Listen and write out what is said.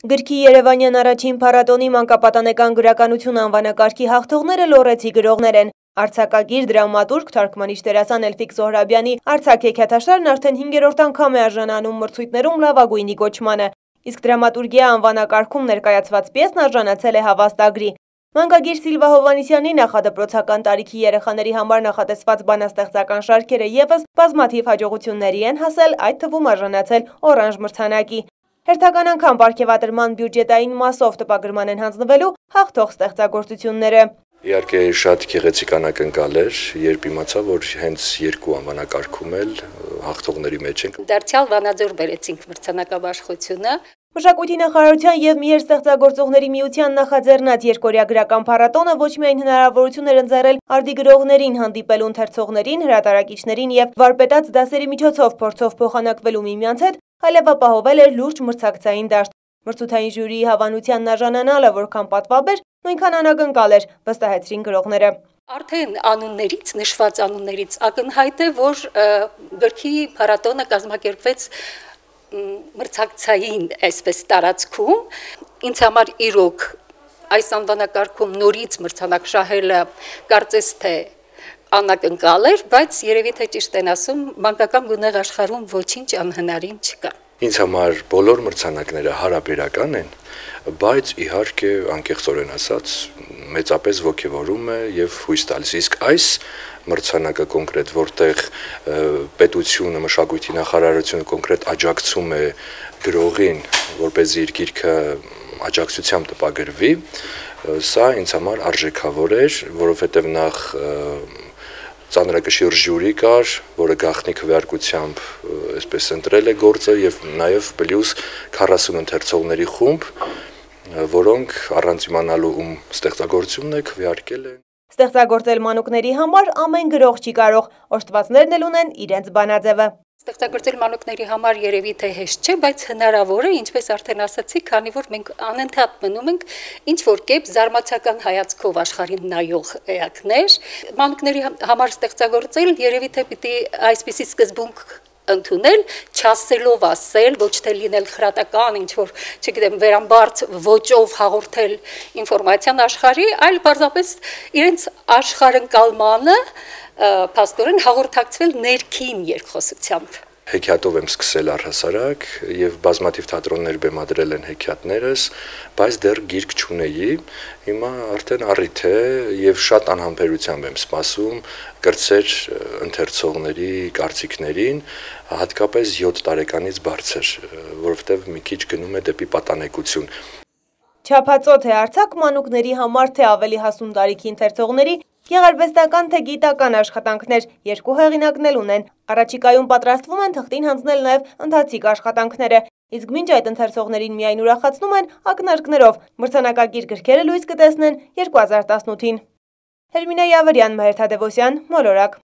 Գրքի Երևանյան առաջին փառատոնի մանկապատանեկան գրականություն անվանակարգի հաղթողները լոռեցի գրողներ են։ Արձակագիր, դրամատուրգ, թարգմանիչ դերասան Էլֆիկ Զոհրաբյանի «Արցակ» հեքիաթաշարն արդեն 5-րդ անգամ է արժանանում մրցույթներում լավագույնի կոչմանը։ Իսկ դրամատուրգիա անվանակարգում ներկայացված պիեսն արժանացել է հավաստագրի։ Մանկագիր Սիլվա Հովհաննիսյանի նախադպրոցական տարիքի երեխաների համար նախատեսված բանաստեղծական շարքերը ևս բազմաթիվ հաջողությունների են հասել, այդ թվում արժանացել օրանժ մրցանակի։ Հերթական անգամ պարգևատրման բյուջետային մասով տպագրման են հանձնվելու հաղթող ստեղծագործությունները։ Իհարկե շատ գեղեցիկ անակնկալ էր, երբ իմացա, որ հենց երկու անվանակարգում էլ հաղթողների մեջ ենք։ Դարձյալ Վանաձոր բերեցինք մրցանակաբաշխությունը։ Մշակույթի նախարարության եւ Միեր ստեղծագործողների միության նախաձեռնած երկօրյա գրական փառատոնը ոչ միայն հնարավորություն էր ընձեռել արդի գրողներին հանդիպելու ընթերցողներին, հրատարակիչներին եւ վարպետաց դասերի միջոցով փորձով փոխանակվելու միմյանց հետ, այլև ապահովել էր լուրջ մրցակցային դաշտ։ Մրցութային ժյուրիի հավանությանն արժանանալը որքան պատվաբեր, նույնքան անակնկալ էր, վստահեցրին գրողները։ Արդեն անուններից, նշված անուններից ակնհայտ է, որ գրքի փառատոնը կազմակերպվեց մրցակցային այսպես տարածքում։ Ինձ համար իրոք այս անվանակարգում նորից մրցանակ շահելը կարծես թե անակնկալ էր, բայց երևի թե ճիշտ են ասում, մանկական գունեղ աշխարհում ոչինչ անհնարին չկա։ Ինձ համար բոլոր մրցանակները հարաբերական են, բայց իհարկե անկեղծորեն ասած մեծապես ոգևորում է եւ հույս տալիս։ Իսկ այս մրցանակը կոնկրետ, որտեղ պետությունը, մշակույթի նախարարությունը կոնկրետ աջակցում է գրողին, որպեսզի իր գիրքը աջակցությամբ տպագրվի, սա ինձ համար արժեքավոր էր, որովհետեւ նախ ծանրակշիռ ժյուրի կար, որը գաղտնի քվեարկությամբ այսպես ընտրել է գործը եւ նաեւ պլյուս 40 ընթերցողների խումբ, որոնք առանց իմանալու ում ստեղծագործությունն է քվեարկել են։ Ստեղծագործել մանուկների համար ամեն գրող չի կարող, օժտվածներն էլ ունեն իրենց բանաձևը։ Ստեղծագործել մանուկների համար երևի թե հեշտ չէ, բայց հնարավոր է, ինչպես արդեն ասացի, քանի որ մենք անընդհատ մնում ենք ինչ որ կերպ զարմացական հայացքով աշխարհին նայող էակներ։ Մանուկների համար ստեղծագործել երևի թե պիտի այսպիսի սկզբունք ընդունել, չասելով ասել, ոչ թե լինել խրատական, ինչ որ, չգիտեմ, վերամբարձ ոճով հաղորդել ինֆորմացիան աշխարհի, այլ պարզապես իրենց աշխարհընկալմանը փաստորեն հաղորդակցվել ներքին երկխոսությամբ։ Հեքիաթով եմ սկսել առհասարակ եւ բազմաթիվ թատրոններ բեմադրել են հեքիաթներս, բայց դեռ գիրք չունեի։ Հիմա արդեն առիթ է եւ շատ անհամբերությամբ եմ սպասում կրծեր ընթերցողների կարծիքներին, հատկապես 7 տարեկանից բարձր, որովհետեւ մի քիչ գնում է դեպի պատանեկություն։ Չափածո թե արձակ մանուկների համար թե ավելի հասուն տարիքի ընթերցողների գեղարվեստական թե գիտական աշխատանքներ երկու հեղինակն էլ ունեն։ Առաջիկայում պատրաստվում են թղթին հանձնել նաև ընթացիկ աշխատանքները, իսկ մինչ այդ ընթերցողներին միայն ուրախացնում են ակնարկներով։ Մրցանակակիր գրքերը լույս կտեսնեն 2018-ին։ Հերմինե Յավարյան, Մհեր Թադևոսյան, Մոլորակ։